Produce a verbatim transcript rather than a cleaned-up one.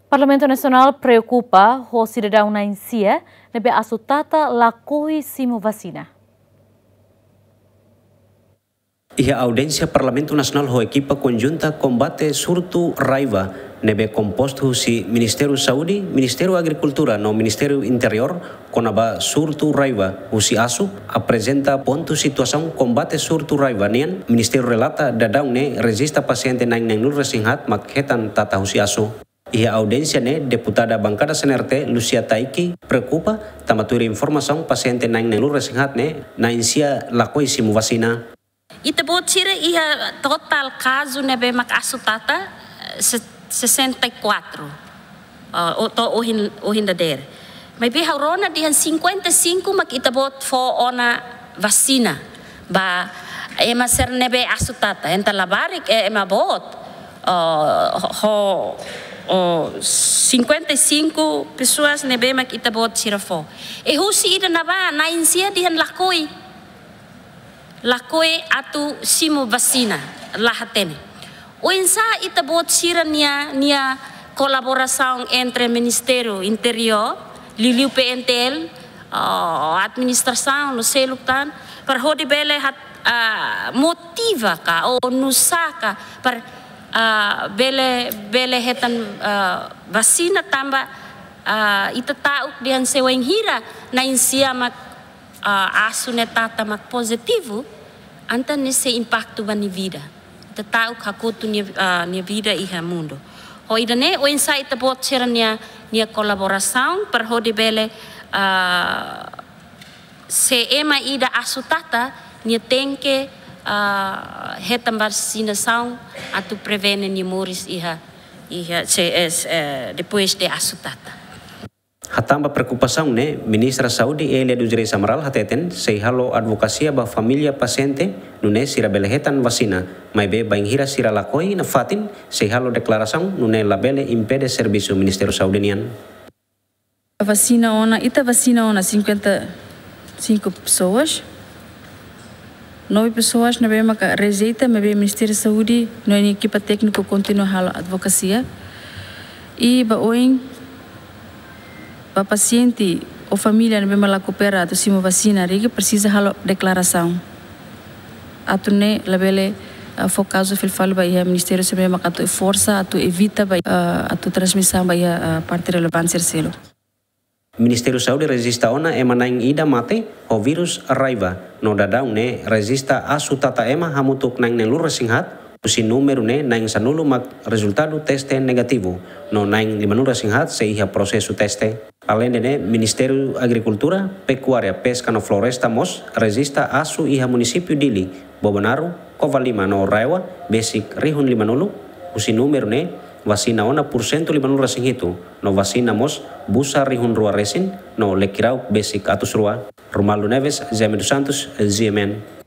Parlamentu Nasionál preokupa ho sidadaun na'in-sia ne'ebé asu tata lakohi simu vasina. Iha audiénsia Parlamentu Nasionál ho ekipa konjunta kombate surtu raiva ne'ebé kompostu husi Ministériu Saúde, Ministériu Agrikultura no Ministériu Interiór, kona-ba surtu raiva husi asu, aprezenta pontu situasaun kombate surtu raiva nian, Ministériu relata daudaun ne'e rejista pasiente na'in-neenulu-resin-haat mak hetan tata husi asu. Iha audiénsia ne'e, deputada bankada C N R T, Lucia Taiki, preokupa tanba tuir informasaun pasiente na'in-neenulu-resin-haat ne'e na'in-sia lakohi simu vasina. Ita-boot sira iha totál kazu ne'ebé mak asu tata, eh, se-, sessenta e quatro. Ah, o-, to'o ohin, ohin dadeer. Maibé ha'u rona dehan cinquenta e cinco mak ita-boot fó ona vasina ba ema sira ne'ebé asu tata. Entaun labarik, eh, ema boot. Oh, ho, oh, cinquenta e cinco pessoas ne'ebé mak ita-boot sira fó. I husi ida-ne'ebá, na'in-sia dehan lakohi. Lakohi atu simu vasina, la hatene. Oinsá ita-boot sira-nia, nia kolaborasaun entre Ministériu Interiór, liuliu P N T L, ah, administrasaun no seluk tan, para hodi bele hat-, ah, motiva ka, ou nusá ka, para, ah, bele, bele hetan, ah, vasina tanba, ah, ita ta'uk dehan se wainhira na'in-sia mak, ah, asu ne'e tata mak pozitivu, entaun ne'e sei impaktu ba nia vida. Ita ta'uk hakotu nia, ah, nia vida iha mundu. Ho ida-ne'e, oinsá ita-boot sira-nia, nia kolaborasaun para hodi bele, ah, se ema ida asu tata, nia tenke, ah, hetan vasinasaun atu prevene nia moris iha, iha C S, eh, depois de asu tata. Hatán ba preokupasaun ne'e, Ministra Saúde Elia dos Reis Amaral hateten, sei halo advokasia ba família pasiente, nune'e sira bele hetan vasina, maibé bainhira sira lakohi nafatin, sei halo deklarasaun, nune'e labele impede servisu Ministériu Saúde nian. Vasina ona, ita vasina ona cinquenta e cinco pessoas. Nove pessoas ne'ebé maka rejeita, maibé Ministériu Saúde no nia ekipa tékniku kontinua halo advokasia. I ba oin, ba pasiente ou família ne'ebé mak la koopera atu simu vasina, ita presiza halo deklarasaun. Atu nune'e labele, ah, fó kazu fila fali ba iha Ministériu sira ne'ebé maka atu forsa, atu evita ba, ah, atu transmisaun ba iha, ah, parte relevante sira seluk. Ministériu Saúde rejista ona ema na'in-ida mate ho vírus raiva, no daudaun ne'e rejista asu tata ema hamutuk na'in-neenulu-resin-haat, husi númeru ne'e na'in-sanulu mak rezultadu teste negativu, no na'in-limanulu-resin-haat sei iha prosesu teste. Aleinde ne'e, Ministériu Agrikultura, Pekuária, Peska no Floresta mós rejista asu iha munisípiu Dili, Bobonaro, Covalima no RAEOA, besik rihun limanulu, husi númeru ne'e, vasina ona pursentu limanulu-resin-hitu, no vasina mós busa rihun rua resin, no lekirauk besik atus rua. Romualdo Neves, Jaime dos Santos, G M N.